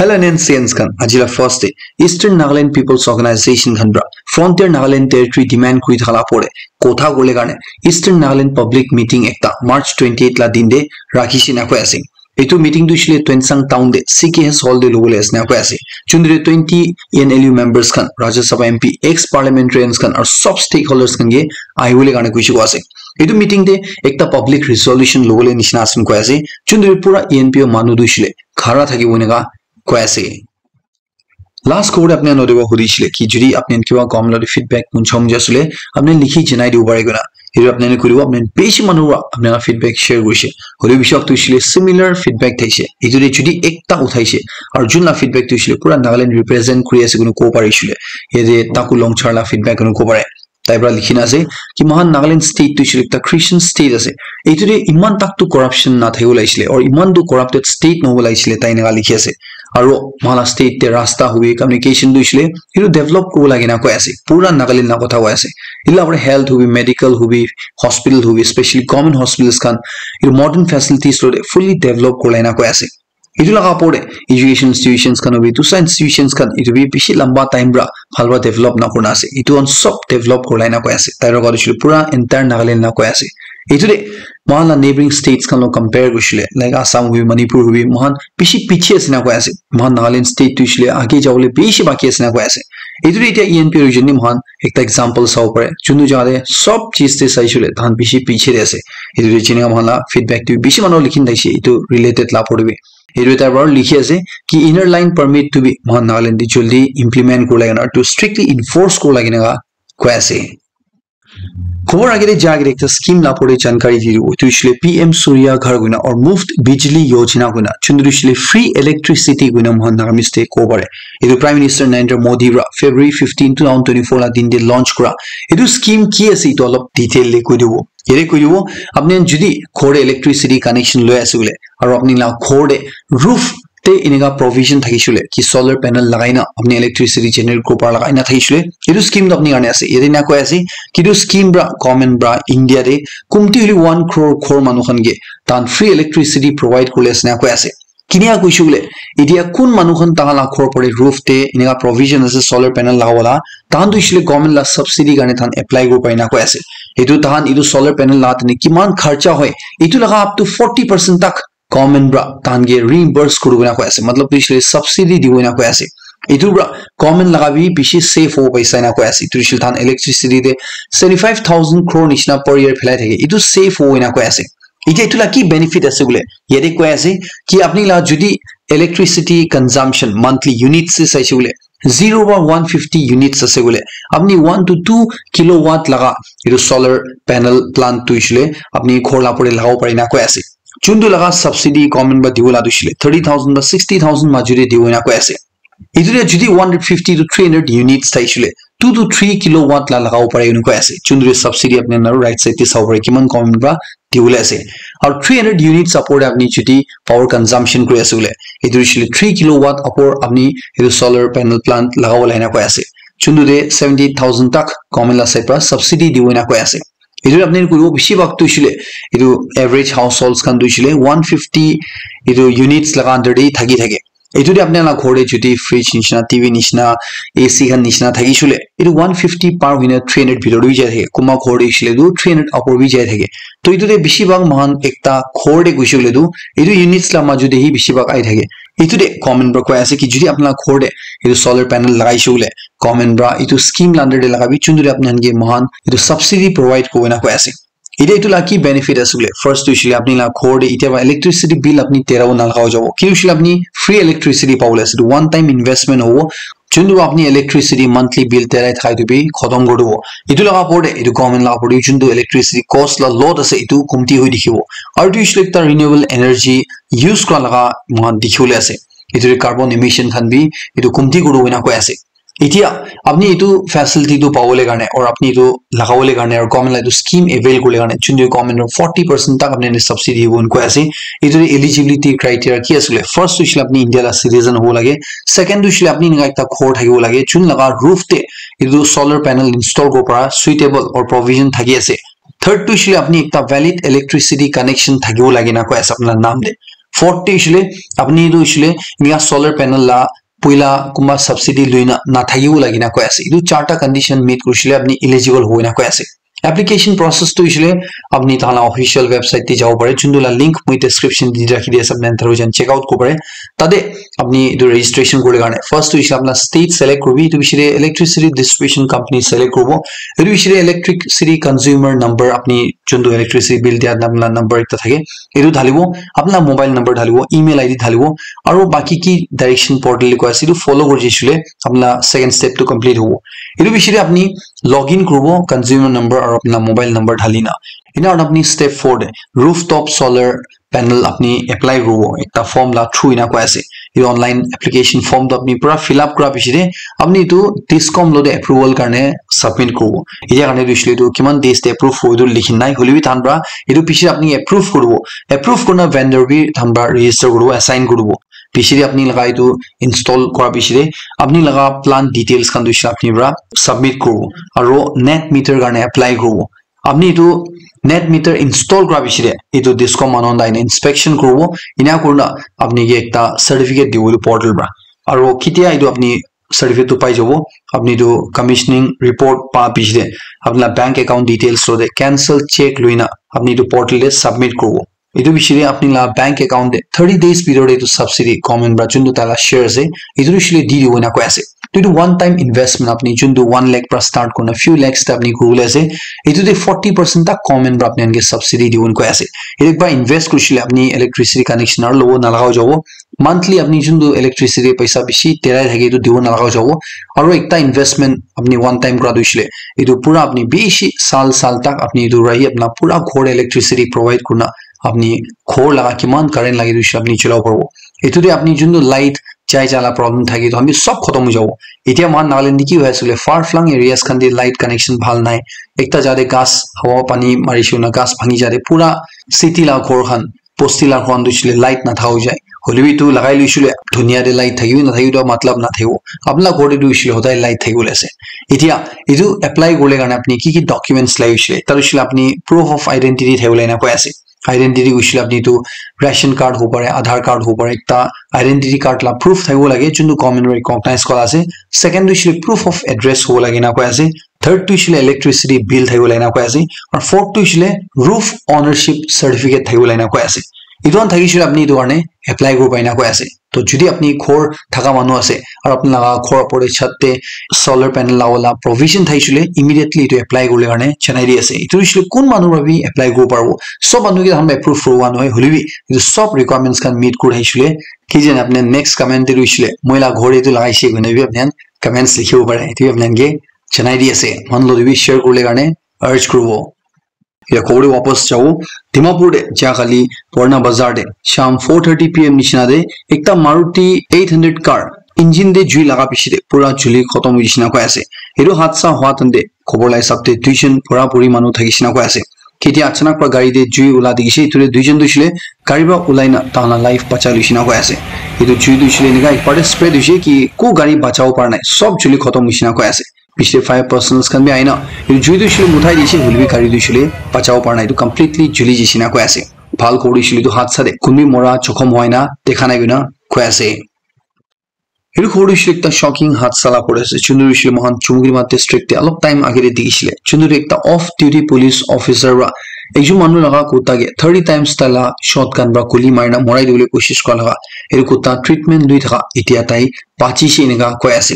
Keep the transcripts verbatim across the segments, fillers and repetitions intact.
L N N C Ns khan, aji la first day, Eastern Nagaland People's Organization khan pra Frontier Nagaland Territory demand kuri thaka la pore kotha kole karne Eastern Nagaland public meeting ekta March twenty-eight la din de rakhi shina koi ase. Etu meeting tu shile Tuensang town de C K S hall de lobole ase na koi ase. Chundre twenty E N L U members khan, Rajya Sabha M P, ex parliamentarians khan aru sob stakeholders khan ke ahi bole karne kuishi ko ase. Etu meeting de ekta public resolution lobole nishina ase koi ase. Chundre pura E N P O manu tu shile khara thaki bole ka koi ase. Last khobor apni khan notiwa hudishile ki jodi apni khan kiba government lati feedback munchom jasule apni likhi janai dibo pare koi na. Etu apni khan kuribo, apni khan bishi manu para apni khan feedback share kurishe. Hoile bishi wak tu shile similar feedback thaishe. Etu de jodi ekta uthaishe aru jun la feedback tu shile pura Nagaland represent kuri ase koina kobo pare shile. Yate Taku Longchar la feedback koina kobo pare. Tai para likhi na ase ki mohan Nagaland state tu shile ekta Christian state ase. Etu de iman tak tu corruption na thakibo lagisile or iman tu corrupted state nohobo lagisile tai eneka likhi ase. Aru mohan la state te rasta hobi, communication tu shile etu develop kuribo lage na koi ase. Pura Nagaland la kotha koi ase. Etu la pore health hobi, medical hobi, hospital hobi, especially government hospitals khan, etu modern facilities lo de fully develop kurila na koi ase. Etu laga opor de education institutions khan hobi, tusa institutions khan etu bi bishi lamba time para bhal para develop na kurina ase. Etu khan sob develop kurila na koi ase. Tai laga tu shile pura entire Nagaland la koi ase. Etu de mohan la neighboring states khan lo compare kushile, like Assam hobi, Manipur hobi, mohan bishi piche ase na koi ase. Mohan Nagaland state tu shile age jabole bishi baki ase na koi ase. Etu de etia E N P O region de mohan ekta example sabo pare. Chunu jaga de sob cheez de sai shile tahan bishi piche de ase. Etu de jene mohan la feedback tu bishi manu likhin thaishe etu related la opor de bi. Etu tar para likhi ase ki inner line permit tu bi mohan Nagaland de jaldi implement kurila na tu strictly enforce kurila na koi ase. Khobor age de ja age de ekta scheme la opor de jankari di dibo. Tu shile P M Surya Ghar koina or Muft Bijli Yojana koina. Chundri shile free electricity koina mohan Nagamese te kobo pare. Etu Prime Minister Narendra Modi para February fifteen, two thousand twenty-four la din de launch kura. Etu scheme ki ase etu olop detail de koi dibo. Yate koi dibo, apni khan jodi ghor de electricity connection loi ase bole, aru apni la ghor de roof te eneka provision thakishe bole, ki solar panel lagai na apni electricity generate kuribo para lagai na thakishe bole, etu scheme tu apni karne ase. Yate na koi ase, ki etu scheme para, government para, India de kumti hoile one crore ghor manu khan ke tahan free electricity provide kurile ase na koi ase. Kinia kuishe bole, etia kun manu khan tahan la ghor pore roof te eneka provision ase solar panel lagabo la, tahan tu shile government la subsidy karne tahan apply kuribo pare na koi ase. Etu tahan etu solar panel la tene kiman kharcha hoi, etu laga up to forty percent tak government para tahan ke reimburse kuribo na koi ase. Matlab tu shile subsidy dibo na koi ase. Etu para government laga bi bishi save hobo paisa na koi ase. Etu shile tahan electricity te seventy five thousand crore nishina per year phelai thake. Etu save hobo na koi ase. Etia etu la ki benefit ase bole? Yate koi ase ki apni la jodi electricity consumption monthly units se saishe bole, zero ba one fifty units ase bole, apni one to two kilowatt laga etu solar panel plant tu shile apni ghor la opor de lagabo pare na koi ase. Chuntu laga subsidy government ba dibo la tu shile thirty thousand ba sixty thousand majuri dibo na koi ase. Etu de jodi one hundred fifty to three hundred units thaishe bole, two to three kilowatt la lagabo pare ena koi ase. Chundri subsidy apni khan aru right side te sabo pare, kiman government para dibole ase. Aru three hundred units upor de apni jodi power consumption kuri ase bole, etu hoishe le three kilowatt upor apni etu solar panel plant lagabo le ena koi ase. Chuntu de seventy thousand tak government la side para subsidy dibo ena koi ase. Etu apni khan kuribo bishi bhag tu hoishe le etu average households khan tu hoishe le one fifty etu units laga under de thaki thake. Etu de apni la ghor de jodi fridge nishina, T V nishina, A C khan nishina thakishe le, etu one fifty par hoina three hundred bhitor de bi jai thake. Kunba ghor de hoishe le tu three hundred upor bi jai thake. To etu de bishi bhag moikhan ekta ghor de goishe le tu, etu units la maju de hi bishi bhag ahi thake. Etu de government para koi ase ki jodi apni la ghor de etu solar panel lagaishe le, government para etu scheme la under de lagabi, chuntu de apni khan ke moikhan etu subsidy provide kuribo na koi ase. Etia etu la ki benefit ase koile, first tu hoishe le apni la ghor de etia para electricity bill apni tera na lagabo jabo. Ki hoishe le apni free electricity pabole ase, etu one time investment hobo. Juntu apni electricity monthly bill terai thaka etu bi khotom kuri dibo. Etu laga opor de, etu government laga opor de juntu electricity cost la load ase, etu komti hoi dikhibo. Aru etu hoishe le ekta renewable energy use kura laga moikhan dikhi bole ase. Etu de carbon emission khan bi etu komti kuri dibo ena koi ase. Etia apni etu facility tu pabole karne aru apni etu lagabole karne aru government la etu scheme avail kuribole karne juntu government para forty percent tak apni khan ke subsidy dibo ena koi ase. Etu de eligibility criteria ki ase koile, first tu hoishe le apni India la citizen hobo lage, second tu hoishe le apni enika ekta ghor thakibo lage jun laga roof te etu solar panel install kuribo para suitable or provision thaki ase. Third tu hoishe le apni ekta valid electricity connection thakibo lage ena koi ase apni la naam de. Fourth te hoishile apni etu hoishile enika solar panel la puila kunba subsidy luina nathakibo lage na koi ase. Etu charta condition meet kurishile apni eligible hoina koi ase. Application process tu hoishile apni tahan la official website te jabo pare, juntu la link moi description te rakhi di ase, apni khan through jan check out kori pare. Tate apni etu registration kori karne first tu hoishile apna state select koribi, etu pichete electricity distribution company select koribo, etu pichete electricity consumer number apni juntu electricity bill dia apna number ekta thake etu dhalibo, apna mobile number dhalibo, email I D dhalibo, aru baki ki direction portal likha ase etu follow kori jisile apna second step tu complete hobo. Etu pichete apni login koribo consumer number aru apna mobile number dhalina. Ena aru apni step four te rooftop solar panel apni apply koribo ekta form la through ena koi ase. Etu online application form tu apni pura fill up kora pichete apni etu discom lo te approval karne submit koribo. Etia karne tu hoishile tu kiman days te approve hobo etu likhi nai, hoile bi tahan pura etu pichete apni approve koribo. Approve kurina vendor bi tahan pura register koribo, assign koribo. Pichete apni laga etu install kora pichete apni laga plant details khan tu hoishile apni pura submit koribo aru net meter karne apply koribo. Apni etu net meter install kora pichete etu discom manu khan aina inspection koribo, ena kurina apni ke ekta certificate dibo etu portal pora. Aru ketia etu apni certificate tu pai jabo, apni etu commissioning report pa pichete apni la bank account details lo te cancel check luina apni etu portal te submit koribo. Etu pichete apni la bank account te thirty days bhitor te etu subsidy government pora juntu tai la share ase etu hoishile di dibo ena koi ase. To etu one time investment apni juntu one lakh pora start kurina few lakhs te apni kuribole ase. Etu te forty percent tak government pora apni khan ke subsidy dibo ena koi ase. Etu ekbar invest kurishile apni electricity connection aru lobo nalaga hoi jabo. Monthly apni juntu electricity paisa bishi terai thake etu dibo nalaga hoi jabo. Aru ekta investment apni one time kora tu hoishile etu pura apni bishi sal sal tak apni etu rahi apna pura ghor electricity provide kurina apni ghor laga kiman current lage tu hoishile apni cholabo paribo. Etu te apni juntu light jai jala problem thake etu khan bi sob khotom hoi jabo. Etia moikhan Nagaland te ki hoi ase koile far flung areas khan te light connection bhal nai. Ekta jaga te ghas hawa pani mari shey koina ghas bhangi jai de pura city la ghor khan bosti la ghor khan tu hoishile light nathaka hoi jai. Hoile bi etu lagai loishile dunia te light thakibi nathakibi etu matlab nathakibo. Apna ghor te tu hoishile hodai light thakibole ase. Etia etu apply kuribole karne apni ki ki documents lage hoishile ekta tu hoishile apni proof of identity thakibole ena koi ase. Identity hoishile apni etu ration card hobo pare, Aadhaar card hobo pare, ekta identity card la proof thakibo lage juntu government pora recognize kora ase. Second tu hoishile proof of address hobo lage ena koi ase. Third tu hoishile electricity bill thakibo lage ena koi ase. Aru fourth tu hoishile roof ownership certificate thakibo lage ena koi ase. Etu khan thakishile apni etu karne apply koribo pare ena koi ase. To jodi apni ghor thaka manu ase aru apni laga ghor opor te chhat te solar panel laga wala provision thakishile immediately etu apply kuribole karne janai di ase. Etu hoishile kun manu pora bi apply koribo paribo. Sob manu ke tahan approve koribo nohoi, hoile bi etu sob requirements khan meet kuri thakishile ki jane apni next comment te hoishile moi la ghor etu lagaishe koina bi apni khan comments likhibo pare. Etu bi apni khan ke janai di ase. Moikhan logot te bi share kuribole karne urge kuribo. Ya khobor te wapas jabo. Dimapur te jia kali Purana Bazar te sham four thirty P M nishina te ekta Maruti eight hundred car engine te jui laga piche te pura juli khotom hoi jai nishina koi ase. Etu hadsa hua time te khobor la hisab te duijon bura buri manu thaki nishina koi ase. Ketia achanak pora gari te jui ula dikhi se, etu te duijon tu hoishile gari pora ulai na tahan la life bachai loishe na koi ase. Etu jui tu hoishile enika ekbar te spread hoishe ki ko gari bachabo para nai, sob juli khotom hoishe na koi ase. Piche te fire personnels khan bi ahina etu jui tu hoishile muthai dishe, hoile bi gari tu hoishile bachabo para nai, etu completely juli jai she na koi ase. Bhal kuri hoishile etu hadsa te kun bi mora jokhom hoi na dekha nai koina koi ase. Etu khobor tu hoishe ekta shocking hadsa la khobor ase. Chundu hoishe moikhan Chumukidima district te olop time age te dikhi shile. Chundu te ekta off duty police officer pora ekjon manu laga kutta ke thirty times tai la shotgun pora guli mari na morai dibole koshish kura laga. Etu kutta treatment lui thaka etia tai bachi she enika koi ase.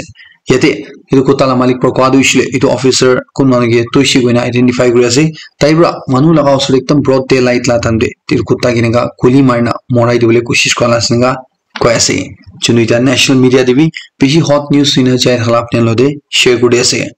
Yate etu kutta la malik pora koa tu hoishe etu officer kun manu ke toishe koina identify kuri ase. Tai pora manu laga usor te ekdum broad daylight la time te etu kutta ke enika guli mari na morai dibole koshish kura la ase enika koi ase. Chundu etia national media te bi bishi hot news hoina jai thaka la apni khan logot te share kuri ase.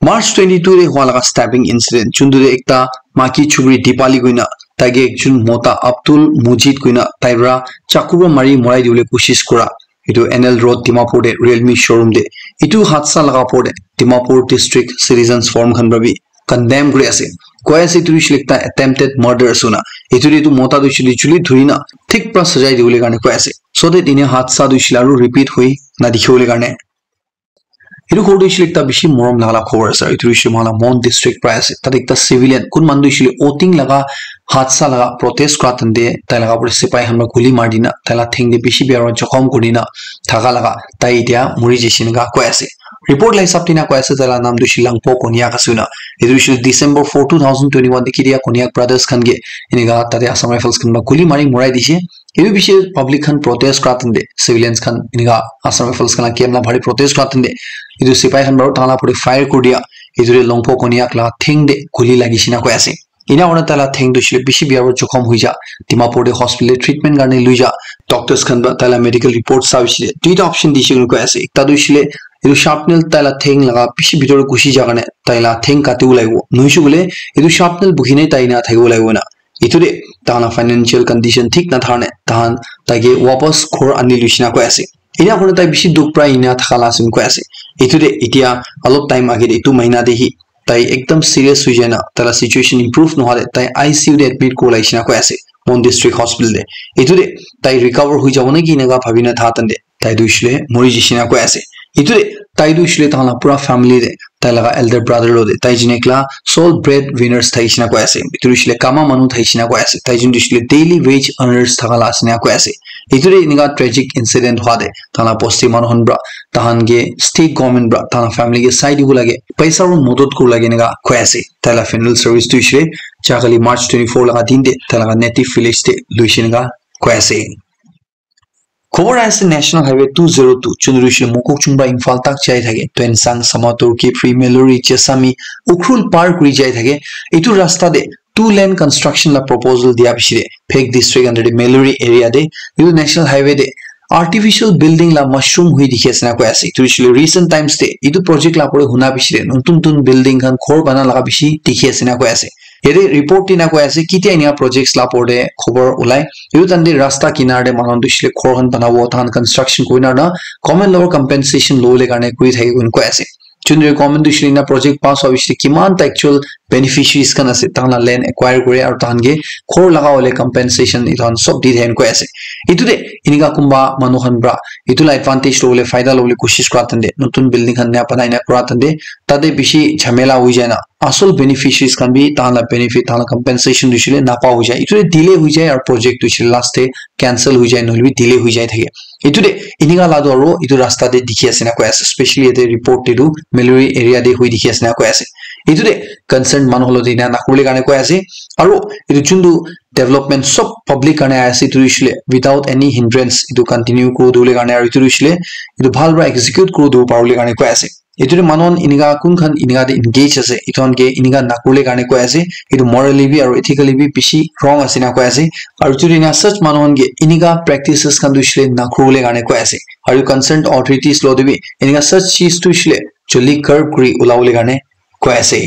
March twenty-two te hua laga stabbing incident, chundu te ekta maki chukri Dipali koina tai ke ekjon mota Abdul Mujid koina tai pora chaku pora mari morai dibole koshish kura. Etu N L Road Dimapur te Realme showroom te. Etu hadsa laga opor te Dimapur District Citizens Forum khan pora bi condemn kuri ase. Koi ase etu hoishe ekta attempted murder ase koina. Etu te etu mota tu hoishe chuli dhuri na thik pora sajai dibole karne koi ase. So that ene hadsa tu hoishe aru repeat hoi na dikhi bole karne. Etu khobor tu hoishe le ekta bishi morom laga la khobor ase. Etu hoishe le moikhan la Mon district pra ase. Tate ekta civilian, kun manu tu hoishe le Oting laga hadsa laga protest kura time te tai laga upor te sepai khan para guli mari dina, tai la theng te bishi bia para jokhom kuri dina thaka laga tai etia muri jaise enika koi ase. Report la hisab te enika koi ase, tai la naam tu hoishe le Langpo Konyak ase koina. Etu hoishe le December four, two thousand twenty-one te ketia Konyak brothers khan ke enika tate Assam Rifles khan para guli mari morai dishe. Etu bishi public khan protest kura time te, civilians khan enika Assam Rifles khan la camp la bahar te protest kura time te, etu sepai khan para tai la upor te fire kuri dia, etu te Langpo Konyak la theng te guli lagi she enika koi ase. Ena kurina tai la theng tu hoishe le bishi bia para jokhom hoi ja, Dimapur te hospital te treatment karne loi ja, doctors khan para tai la medical report sa hoishe le duita option dishe koina koi ase. Ekta tu hoishe le etu sharp nail tai la theng laga bishi bitor te ghusi ja karne tai la theng kati ulai bo, nohoishe koile etu sharp nail bukhi ne tai ena thaki bo lagi bo na. Etu te tai khan la financial condition thik nathaka karne tai khan tai ke wapas ghor ani loi she enika koi ase. Ena kurina tai bishi dukh para ena thaka la ase koi ase. Etu te etia olop time age te etu mahina te hi tai ekdam serious hoi jai na, tai la situation improve nohole tai I C U te admit kuri lagi she enika koi ase, Mon District Hospital te. Etu te tai recover hoi jabo naki enika bhabi na thaka time te tai tu hoishe le mori jaise enika koi ase. Etu te tai tu hoishe le tai khan la pura family te, tai laga elder brother lo te, tai jin ekla sole bread winners thaki she enika koi ase. Etu hoishe le kama manu thaki she enika koi ase. Tai jin tu hoishe le daily wage earners thaka la ase enika koi ase. Etu te enika tragic incident hua te tai la bosti manu khan para, tai khan ke state government para tai la family ke sai dibo lage, paisa para modot kuri lage enika koi ase. Tai la funeral service tu hoishe le jai kali March twenty-four laga din te tai laga native village te loi she enika koi ase. Khobor ase National Highway two zero two, jun tu hoishe le Mokokchung para Imphal tak jai thake, Tuensang, Samatur, Kiphire, Meluri, Chesami, Ukhrul par kuri jai thake. Etu rasta te two lane construction la proposal dia piche te, Phek district under te Meluri area te, etu National Highway te artificial building la mushroom hui dikhi ase enika koi ase. Etu hoishe le recent times te etu project la upor te huna piche te notun notun building khan ghor bana laga bishi dikhi ase enika koi ase. Yate report te enika koi ase, ketia enika projects la upor te khobor ulai. Etu time te rasta kinar te manu khan tu hoishe le ghor khan banabo, tai khan construction kuri na na, government lower compensation lobole karne kuri thake koina koi ase. Jun tu government tu hoishe le enika project pass hua piche te kiman ta actual beneficiaries khan ase, tai khan la land acquire kure aru tai khan ke ghor laga hole compensation etu khan sob di thake koi ase. Etu te enika kunba manu khan para etu la advantage lobole, faida lobole koshish kura time te, notun building khan naya banai na kura time te, tate bishi jhamela hoi jai na, asol beneficiaries khan bi tai khan la benefit, tai khan la compensation tu hoishe le napa hoi jai. Etu te delay hoi jai aru project tu hoishe le last te cancel hoi jai, nohole bi delay hoi jai thake. Etu te enika la tu aru etu rasta te dikhi ase enika koi ase, specially yate report te tu Meluri area te hui dikhi ase enika koi ase. Etu te concerned manu khan lo te enika nakuribole karne koi ase. Aru etu jun tu development sob public karne ahi ase, etu tu hoishe le without any hindrance etu continue kuri dibole karne, aru etu tu hoishe le etu bhal para execute kuri dibo paribole karne koi ase. Etu te manu khan enika kun khan enika te engage ase, etu khan ke enika nakuribole karne koi ase. Etu morally bi aru ethically bi bishi wrong ase enika koi ase. Aru etu te enika such manu khan ke enika practices khan tu hoishe le nakuribole karne koi ase. Aru concerned authorities lo te bi enika such cheez tu hoishe le joldi curb kuri ulabole karne koi ase.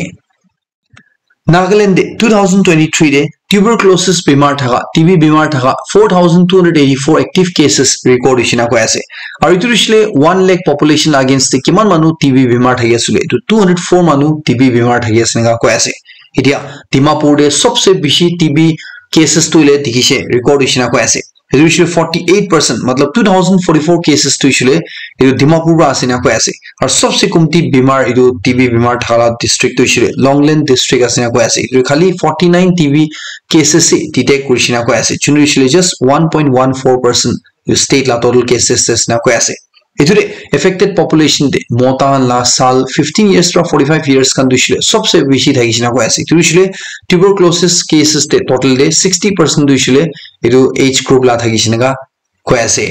Nagaland te two thousand twenty-three te tuberculosis bimar thaka, T B bimar thaka four thousand two hundred eighty-four active cases record hoishe enika koi ase. Aru etu hoishe le one lakh population against te kiman manu T B bimar thaki ase le, etu two hundred four manu T B bimar thaki ase enika koi ase. Etia Dimapur te sobse bishi T B cases tu hoile dikhishe, record hoishe enika koi ase. Etu hoishe le forty-eight percent, matlab two thousand forty-four cases tu hoishe le etu Dimapur para ase enika koi ase. Aru sobse komti bimar etu T B bimar thaka la district tu hoishe le Longleng district ase enika koi ase. Etu khali forty-nine T B cases se detect kurishe enika koi ase. Jun tu hoishe le just one point one four percent etu state la total cases ase enika koi ase. Etu te affected population te mota khan la saal fifteen years para forty-five years khan tu hoishe le sobse bishi thakishe enika koi ase. Etu hoishe le tuberculosis cases te total te sixty percent tu hoishe le etu age group la thakishe enika koi ase.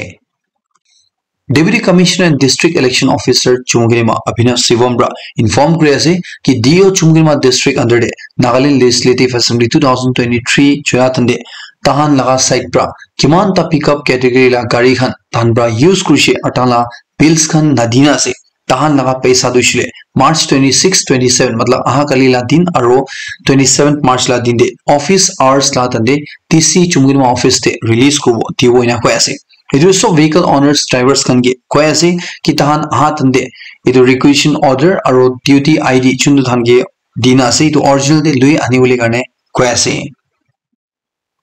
Deputy Commissioner and District Election Officer Chumukedima Abhinav Shivam para inform kuri ase ki D O Chumukedima District under te Nagaland Legislative Assembly two thousand twenty-three chula time te tahan laga side para kiman ta pickup category la gari khan tahan para use kurishe aru tahan la bills khan nadina ase. Tahan laga paisa tu hoishe le March twenty-six, twenty-seven, matlab aha kali la din aru twenty-seventh March la din te office hours la time te D C Chumukedima office te release kuribo dibo enika koi ase. Etu sob vehicle owners, drivers khan ke koi ase ki tahan aha time te etu requisition order aru duty I D jun tu tahan ke dina ase, etu original te lui anibole karne koi ase.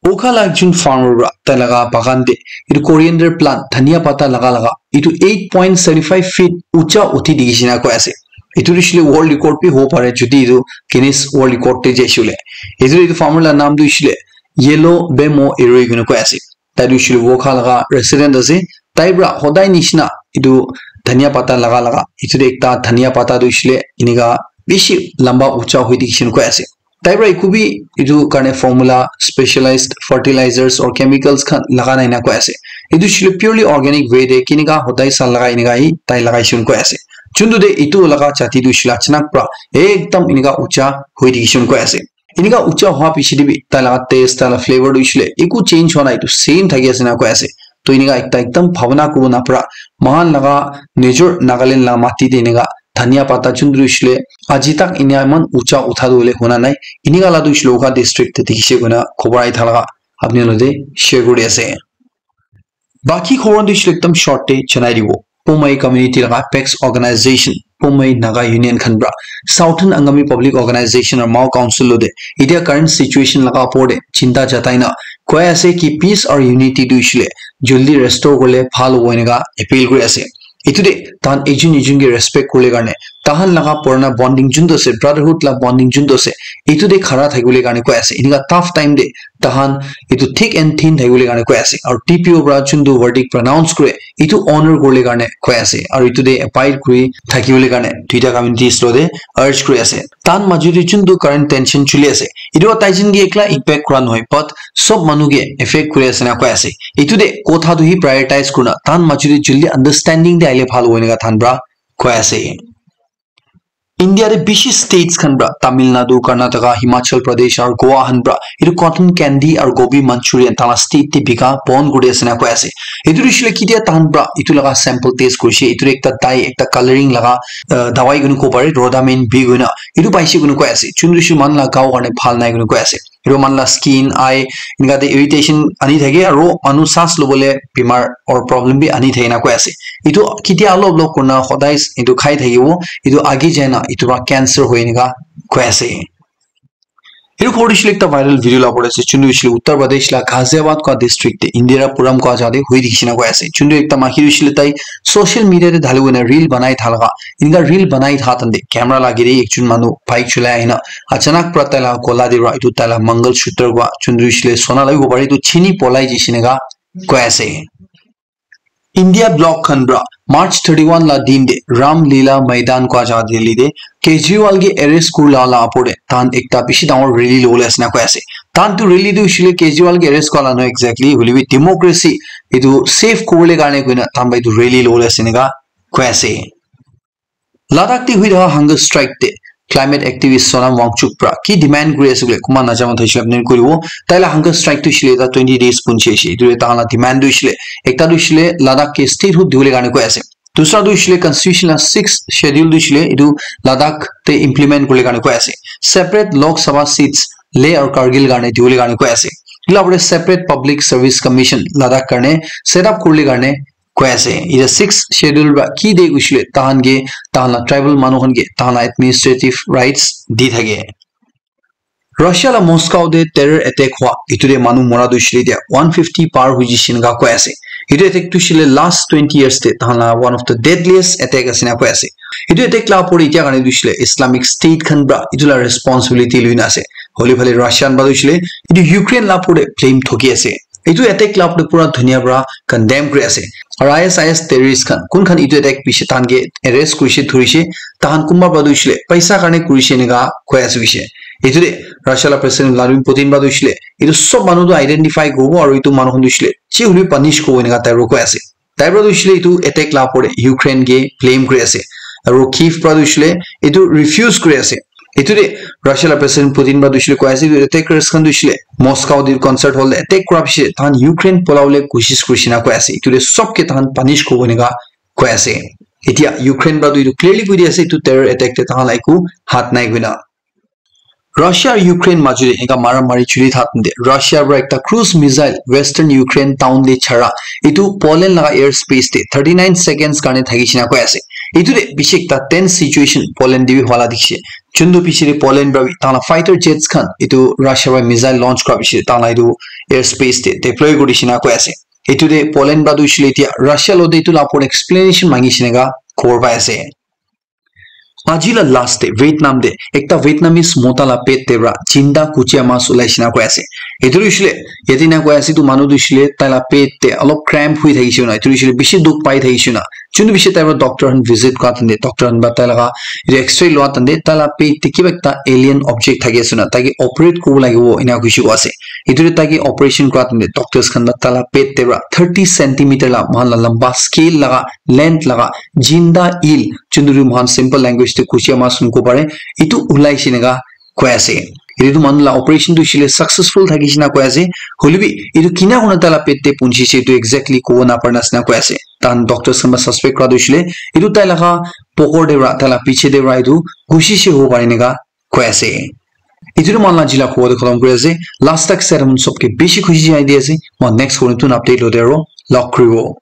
Okha la ekjon farmer pra tai laga bagan te etu coriander plant, dhania pata laga laga etu eight point seventy five feet ucha uthi dikhi shina koi ase. Etu hoishe le world record bi hobo pare jodi etu Guinness World Record te jaishe le. Etu, etu farmer la naam tu hoishe le Yellow Bemo Eroi koina koi ase. Tai tu hoishe le Wokha laga resident ase. Tai pra hodai nishina etu dhania pata laga laga etu te ekta dhania pata tu hoishe le enika bishi lamba ucha hoi dikhi shina koi ase. Tai pra eku bi etu karne formula, specialized fertilizers or chemicals khan laga nai na koi ase. Etu hoishe le purely organic way te kenika hodai sal lagai enika hi tai lagai shina koi ase. Chuntu te etu laga jati tu hoishe le achanak pra ekdam enika ucha hoi dikhi shina koi ase. Enika ucha hoa piche te bi tai laga taste, tai laga flavor tu hoishe le eku change hoa nai, etu same thaki ase na koi ase. To enika ekta ekdam bhabana kuribo napara, moikhan laga nijor Nagaland la mati te enika dhania pata chuntu hoishe le aji tak enika eman ucha utha tu hoile huna nai. Enika la tu hoishe le Wokha district te dikhi she koina khobor ahi thaka apni logote share kuri ase. Baki khobor tu hoishe le ekdam short te janai dibo. Poumai community laga apex organization, Poumai Naga Union khan pra Southern Angami Public Organization aru Mao Council logote etia current situation laga opor te chinta jatai na koi ase ki peace aru unity tu hoishe le jaldi restore kurle bhal hobo enika appeal kuri ase. Etu te tahan ekjon ekjon ke respect kurle karne, tahan laga purana bonding juntu ase, brotherhood la bonding juntu ase, etu te khara thakibole karne koi ase. Enika tough time te tahan etu thick and thin thakibole karne koi ase. Aru T P O pra juntu verdict pronounce kure, etu honor kurle karne koi ase. Aru etu te abide kuri thakibole karne duita communities logote urge kuri ase. Tahan majo te juntu current tension chuli ase, etu tai jun ke ekla impact kura nohoi, but sob manu ke affect kuri ase na koi ase. Etu te kotha tu hi prioritize kurina tahan majo te jaldi understanding te ahile bhal hobo enika tahan pra koi ase. India te bishi states khan pra, Tamil Nadu, Karnataka, Himachal Pradesh aru Goa khan pra etu cotton candy aru gobi manchurian tahan la state te bika bon kuri ase na koi ase. Etu tu hoishe le ketia tahan pra etu laga sample taste kurishe, etu ekta dye, ekta colouring laga, uh, dawai koina kobo pare, rhodamine B koina etu paishe koina koi ase. Chuntu hoishe le moikhan la gao karne bhal nai koina koi ase. Etu moikhan la skin, eye, enika te irritation ani thake aru manu saas lobole bimar or problem bi ani thake na koi ase. Etu ketia olop olop kurina hodai etu khai thakibo, etu age jai na etu pra cancer hoi enika koi ase. Etu khobor tu hoishe le ekta viral video la opor te ase, chuntu hoishe le Uttar Pradesh la Ghaziabad koi district te Indirapuram koi jaga te hoi dikhi shina koi ase. Chuntu ekta maiki tu hoishe le tai social media te dhali kena reel banai tha laga, enika reel banai tha tante camera la agey te ekjon manu bike cholai ahina achanak pra tai la gola te pra etu tai la mangal sutra koi chuntu hoishe le sona la bi hobo pare, etu chini polai jaishe enika koi ase. India bloc khan pra March thirty one la din te Ram Leela Maidan koi jaga Delhi te Kejriwal ke arrest kurila la opor te tahan ekta bishi dangor rally lobole ase na koi ase. Tahan tu rally tu hoishe le Kejriwal ke arrest kurila nohoi exactly, hoile bi democracy etu save kuribole karne koina tahan pra etu rally lobole ase enika koi ase. Ladakh te hui thaka hunger strike te climate activist Sonam Wangchuk pra ki demand kuri ase koile kunba najana manu thakishe koile apni khan kuribo. Tai la hunger strike tu hoishe le ta twenty days punchi ase. Etu tahan la demand tu hoishe le ekta tu hoishe le Ladakh ke statehood dibole karne koi ase. Dusra tu hoishe le constitution la sixth schedule tu hoishe le etu Ladakh te implement kuribole karne koi ase. Separate Lok Sabha seats Leh aru Kargil karne dibole karne koi ase. Etu la opor te separate public service commission Ladakh karne set up kuribole karne koi ase. Etu sixth schedule pra ki de hoishe le tahan ke, tahan la tribal manu khan ke tahan la administrative rights di thake. Russia la Moscow te terror attack hua etu te manu mora tu hoishe le etia one fifty par hoi jaishe enika koi ase. Etu attack tu hoishe le last twenty years te tahan la one of the deadliest attack ase enika koi ase. Etu attack la opor te etia karne tu hoishe le Islamic State khan pra etu la responsibility loi na ase. Hoile phale Russian pra tu hoishe le etu Ukraine la opor te blame thoki ase. Etu attack la opor te pura dunia pra condemn kuri ase. Aru I S I S terrorist khan, kun khan etu attack piche tahan ke arrest kurishe, dhurishe, tahan kunba pra tu hoishe le paisa karne kurishe enika koi ase hoishe. Etu te Russia la President Vladimir Putin pra tu hoishe le etu sob manu tu identify kuribo aru etu manu khan tu hoishe le je hoile punish kuribo enika tai pra koi ase. Tai pra tu hoishe le etu attack la opor te Ukraine ke blame kuri ase. Aru Kyiv pra tu hoishe le etu refuse kuri ase. Etu te Russia la President Putin pra tu hoishe le koi ase, etu attackers khan tu hoishe le Moscow te concert hall te attack kura piche tahan Ukraine polabole koshish kurishe enika koi ase. Etu te sob ke tahan punish kuribo enika koi ase. Etia Ukraine pra tu etu clearly koi di ase, etu terror attack te tahan la eku hath nai koina. Russia aru Ukraine majo te enka mara mari chuli thakte Russia pra ekta cruise missile western Ukraine town te chara, etu Poland laga air space te thirty nine seconds karne thakishe enika koi ase. Etu te bishi ekta tense situation Poland te bi hwala dikhi se. Chundu bishi te Poland pra bi tala fighter jets khan etu Russia pra missile launch kura bishi tala etu airspace te deploy kuri dishina koi ase. Etu te Poland pra tu hoishe le etia Russia lo te etu la opor explanation mangi shina ka khobor pai ase. Aji la last te Vietnam te ekta Vietnamese mota la pet te pra jinda kuchia mas ulai shina koi ase. Etu hoishe le yate na koi ase tu manu tu hoishe le tai la pet te alop cramp hui thakishe na. Etu hoishe le bishi dukh pai thakishe na. Chundu bishi tai pra doctor han visit kura tande doctor han pra tai laga etu x-ray lua tande tai la pet te kiba ekta alien object thaki ase na. Tai ke operate kuribo lagibo ena kuishe koi ase. Etu te tai ke operation kura tande doctors khan pra tai la pet te pra thirty centimeter la moikhan la lamba scale laga length laga jinda eel chundu moikhan simple language te kuchia mas kobo pare. Etu ulai shina ka koi ase. Etu manu la operation tu hoishe le successful thakishe na koi ase. Hoile bi etu kina kurna tai la pet te punchise etu exactly kobo napare na ase na koi ase. Tahan doctors khan pra suspect kura tu hoishe le etu tai laga pokor te pra tai la piche te pra etu gusishe hobo pare ena ka koi ase. Etu tu moikhan la aji la khobor tu khatam kuri ase. Last tak sir hum sob ke bishi khushi janai di ase. Moikhan next khobor tu update lote aro log kuribo.